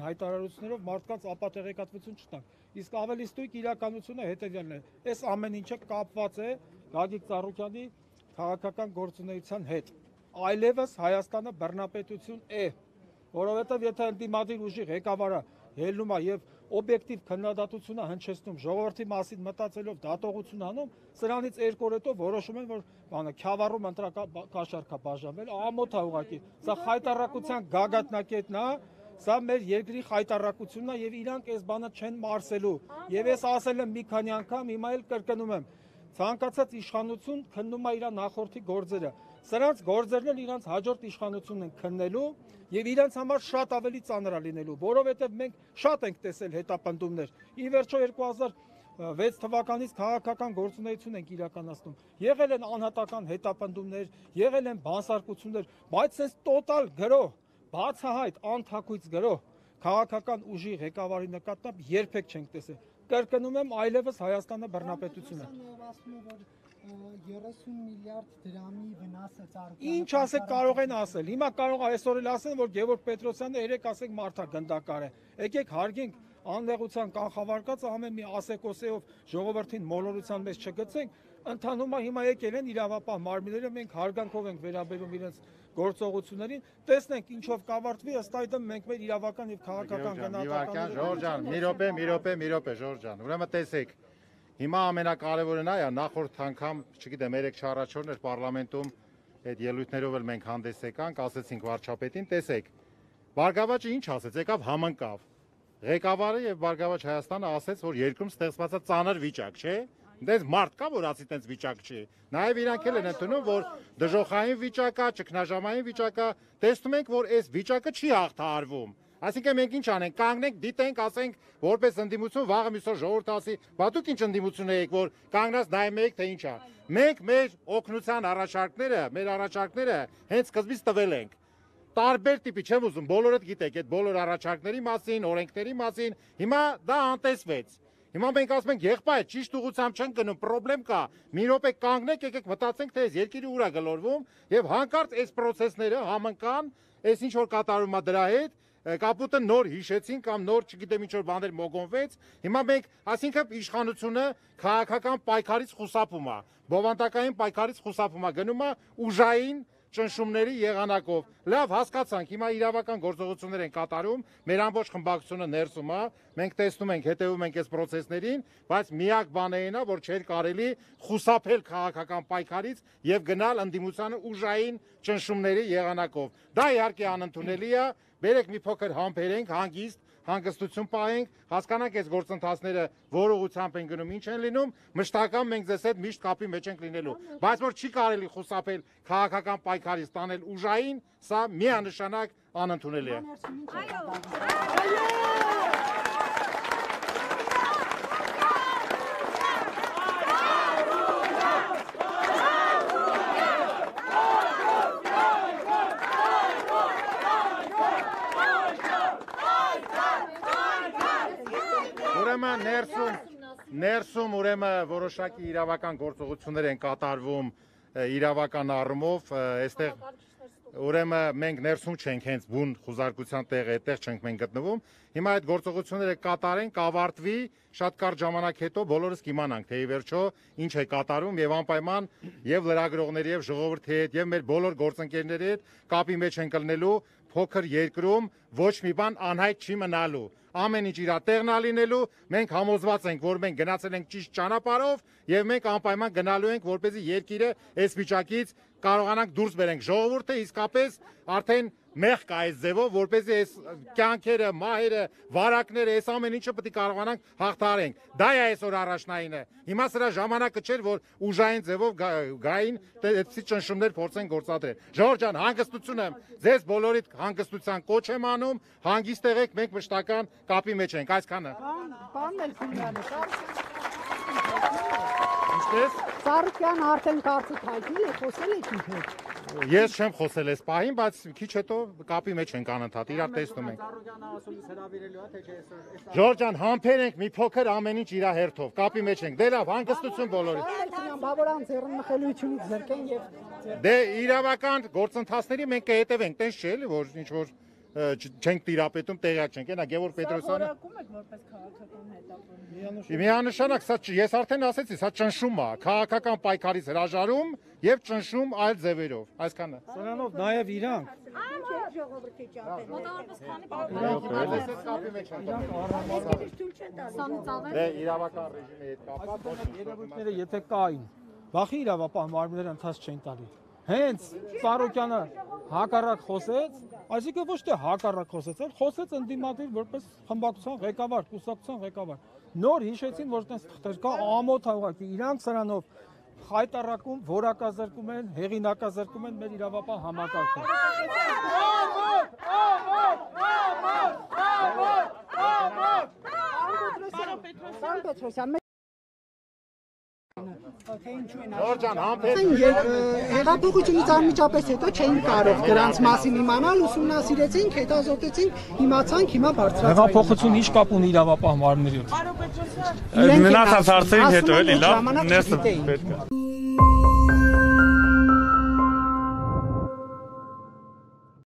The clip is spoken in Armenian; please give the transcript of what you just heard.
Հայտարարություններով մարդկանց ապատեղեկատվություն չտանք, իսկ ավելի ստույգ իրականությունը հետևյալն է, այս ամեն ինչը կապված է Գագիկ Ծառուկյանի քաղաքական գործունեության հետ, այլևս Հայաստանը բռնապետություն է, որովհետև եթե ընդդիմադիր ուժի ղեկավարը ելնում է եւ օբյեկտիվ քննադատությունը հնչեցնում, ժողովրդի մասին մտածելով դատողություն անում, սրանից երկու օր հետո որոշում են, որ բանը Քյավառում ընտրակաշառք է բաժանվել, ամոթ է ուղղակի, սա խայտարակության գագաթնակետն է, սա մեր երկրի խայտարակությունն է եւ իրանք այս բանը չեն մարսելու, եւ ես ասել եմ մի քանի անգամ, հիմա էլ կրկնում եմ, ցանկացած իշխանություն քննում է իր նախորդի գործերը, սրանց գործերն էլ իրանց հաջորդ իշխանությունն են քննելու եւ իրանց համար շատ ավելի ծանր է լինելու, որովհետեւ մենք շատ ենք տեսել հետապնդումներ, ի վերջո 2006 թվականից քաղաքական գործունեություն ենք իրականացնում, եղել են անհատական հետապնդումներ, եղել են բանսարկություններ, բայց այս տոտալ գրող, բացահայտ անթակույց գրող քաղաքական ուժի ղեկավարի նկատմամբ երբեք չենք տեսել, կրկնում եմ, այլևս Հայաստանը բռնապետություն է։ 30 միլիարդ դրամի վնասը Ծառուկյանը։ Ինչ ասեք կարող են ասել։ Հիմա կարող է այսօր էլ ասեն, որ Գևորգ Պետրոսյանը երեք ասեք մարդա գնդակար է։ Եկեք հարգենք աննեղության կանխավարկածը ամեն մի ասեկոսեով ժողովրդին մոլորության մեջ չգցենք, ընդհանումը հիմա եկել են իրավապահ մարմինները, մենք հարգանքով ենք վերաբերում իրենց գործողություններին, տեսնենք ինչով կավարտվի, ըստ այդմ մենք մեր իրավական եւ քաղաքական գնահատականները։ Ժորժ ջան, մի րոպե, Ժորժ ջան, ուրեմն տեսեք, հիմա ամենակարևորն է, նախորդ անգամ, չգիտեմ, 3 առաջորդներ պարլամենտում այդ ելույթներով էլ մենք հանդես եկանք, ասեցինք վարչապետին, տեսեք, Բարգավաճը ինչ ասեց, եկավ համընկավ, ղեկավարը եւ Բարգավաճ Հայաստանը ասեց, որ երկրում ստեղծված է ծանր վիճակ, չէ՞։ Դες մարդ կա, որ ասի տենց վիճակ չի։ Նաև իրանք էլ են ընդունում, որ դժոխային վիճակ է, ճգնաժամային վիճակ է, տեսնում ենք, որ այս վիճակը չի հաղթահարվում։ Այսինքն մենք ինչ անենք, կանգնենք, դիտենք, ասենք, որպես ընդդիմություն, վաղը մյուսօր ժողովուրդը ասի, բա դուք ինչ ընդդիմություն եք, որ կանգնած նայում եք, թե ինչ է։ Մենք մեր օգնության առաջարկները հենց սկզբից տվել ենք։ Տարբեր տիպի, չեմ ուզում, բոլորդ գիտեք, այդ բոլոր առաջարկների մասին, օրենքների մասին, հիմա դա անտեսվեց։ Հիմա մենք ասում ենք, եղբայր, ճիշտ ուղղությամբ չեն գնում, պրոբլեմ կա, մի րոպե կանգնեք, եկեք մտածենք, թե այս երկիրը ուր է գլորվում, եւ հանկարծ այս process-ները համընկան, այս ինչ որ կատարվում է դրա հետ, կապուտը նոր հիշեցին կամ նոր, չգիտեմ ինչ որ բաներ մոգոնվեց, հիմա մենք, ասինքն իշխանությունը քաղաքական պայքարից խուսափում է, բովանդակային պայքարից խուսափում է, գնում է ուժային ճնշումների եղանակով։ Լավ, հասկացանք, հիմա իրավական գործողություններ են կատարում, մեր ամբողջ խմբակցությունը ներսում է, մենք տեսնում ենք, հետևում ենք այս process-ներին, բայց միակ բանը այն է, որ չէր կարելի խուսափել քաղաքական պայքարից եւ գնալ ընդդիմությանը ուժային ճնշումների եղանակով։ Դա իհարկե անընդունելի է, բերեք մի փոքր համբերենք, հանգստություն պահենք, հասկանանք այս գործընթացները որ ուղղությամբ են գնում, ինչ են լինում, մշտական մենք ձեզ հետ միշտ կապի մեջ ենք լինելու, բայց որ չի կարելի խուսափել քաղաքական պայքարից տանել ուժային, սա միանշանակ անընդունելի է։ Ներսում ուրեմն որոշակի իրավական գործողություններ են կատարվում իրավական առումով, այստեղ ուրեմն մենք ներսում չենք, հենց բուն խուզարկության տեղը այդտեղ չենք մենք գտնվում։ Հիմա այդ գործողությունները կատարենք, կավարտվի, շատ կարճ ժամանակ հետո բոլորս կիմանանք, թե ի վերջո ինչ է կատարում եւ անպայման եւ լրագրողների եւ ժողովրդի հետ եւ մեր բոլոր գործընկերների հետ կապի մեջ ենք ելնելու, փոքր երկրում ոչ մի բան անհայտ չի մնալու։ Ամեն ինչ իր տեղն է լինելու, մենք համոզված ենք, որ մենք գնացել ենք ճիշտ ճանապարհով եւ մենք անպայման գնալու ենք, որպեսզի երկիրը այս վիճակից կարողանանք դուրս բերենք։ Ժողովուրդը իսկապես արդեն մեղ կա այս ձևով, որպեսզի այս կյանքերը, մահերը, վարակները, այս ամեն ինչը պետք է կարողանանք հաղթահարենք։ Դա է այսօր առաջնայինը։ Հիմա սրա ժամանակը չէր, որ ուժային ձևով գային այդպիսի ճնշումներ փորձեն գործադրել։ Ժորժ ջան, հանգստություն եմ, ձեզ բոլորիդ հանգստության կոչ եմ անում, հանգիստ եղեք, մենք մշտական կապի մեջ ենք, այսքանը։ Պարոն Էլֆիմյանը, Ինչպես։ Ծառուկյանը արդեն կարծիք հայտնի է, խոսել եք իր հետ։ Ես չեմ խոսել այս պահին, բայց քիչ հետո կապի մեջ ենք անընդհատ, իրար տեսնում ենք։ Ժորժ ջան, համբերենք մի փոքր ամեն ինչ իր հերթով, կապի մեջ ենք։ Դե լավ, հանգստություն բոլորին։ Բա որ անձեռն մխելությունից զրկեն եւ Դե իրավական գործընթացների մենք կհետևենք, տես չէ՞ էլի, որ ինչ որ չենք տիրապետում, տեղյակ չենք։ Այնա Գևորգ Պետրոսյանը Որակում եք որպես քաղաքական հետապնդում։ միանշանակ սա ես արդեն ասեցի, սա ճնշում է, քաղաքական պայքարից հրաժարում եւ ճնշում այլ ձևերով։ Այսքանը։ Սրանով նաեւ իրանք Դե իրավական ռեժիմի հետ կապված երևույթները եթե կային, վախի իրավապահ մարմինները ընթաց չեն տալի։ Հենց Սարոկյանը հակառակ խոսեց, այսինքն ոչ թե հակառակ խոսեց, այլ խոսեց ընդդիմադիր որպես խմբակցության ղեկավար, կուսակցության ղեկավար։ Նոր հիշեցին, որ այդպես թղթեր կա ամոթ ուղղակի, իրանք սրանով խայտարակում, որակազրկում են, հեղինակազրկում են մեր իրավապահ համակարգը։ Պարոն Պետրոսյան, Ժորժան, համբեր հեղափոխությունից անմիջապես հետո չէին կարող դրանց մասին իմանալ, ուսումնասիրեցինք, հետազոտեցինք, իմացանք, հիմա բարձրացանք։ Հեղափոխություն ինչ կապ ունի իրավապահ մարմինների հետ։ Պարոն Պետրոսյան, Մնացած հարցերին հետո էլի լավ, ժամանակ ներսը չգիտեին։ պետք է։